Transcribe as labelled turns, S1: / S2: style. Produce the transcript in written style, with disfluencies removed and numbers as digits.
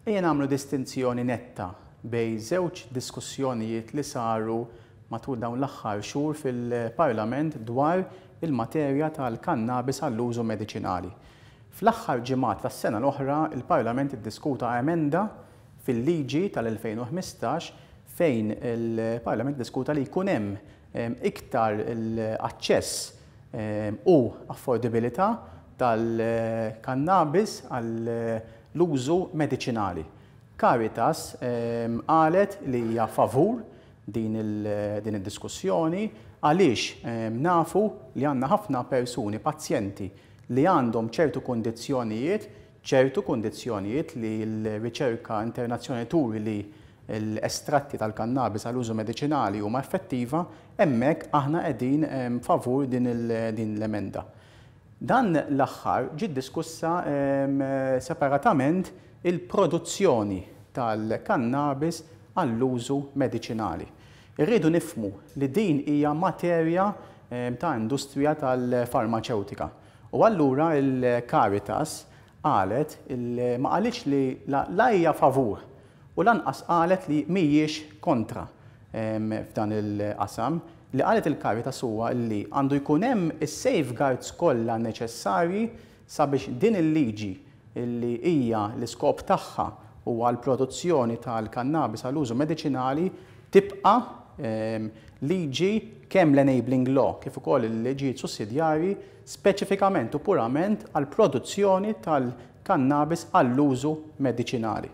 S1: Ejja nagħmlu distinzjoni netta bejn żewġ diskussjonijiet li saru matul dawn l-aħħar xhur fil-Parlament dwar il-materja tal-kannabis għall-użu mediċinali. Fl-aħħar ġimgħat tas-sena l-oħra l-Parlament iddiskuta emenda fil-liġi tal-2015 fejn il-Parlament iddiskuta li jkun hemm iktar aċċess u affordibilità tal-kannabis għall-użu mediċinali. Caritas qalet li hija favur din id-diskussjoni għaliex nafu li għandna ħafna persuni, pazjenti li għandhom ċertu kundizzjonijiet, ċertu kundizzjonijiet li l-riċerka internazzjonali turi li l-estratti tal-kannabis għal użu mediċinali huma effettiva, hemmhekk aħna qegħdin favur din l-emenda. Dan l-aħħar ġiet diskussa separatament il-produzzjoni tal-kannabis għall-użu mediċinali. Irridu nifhmu li din hija materja ta' industrija tal-farmaċewtika u allura l-Caritas qalet ma qalitx li la hija favur u lanqas qalet li mhijiex kontra f'dan il-qasam. Li qalet il-Caritas huwa li għandu jkun hemm is-safeguards kollha neċessarji sabiex din il-liġi li hija l-iskop tagħha huwa l-produzzjoni tal-kannabis għal użu mediċinali tibqa' liġi kemm l-enabling law kif ukoll il-liġijiet sussidjarji speċifikament u purament għall-produzzjoni tal-kannabis għall-użu mediċinali.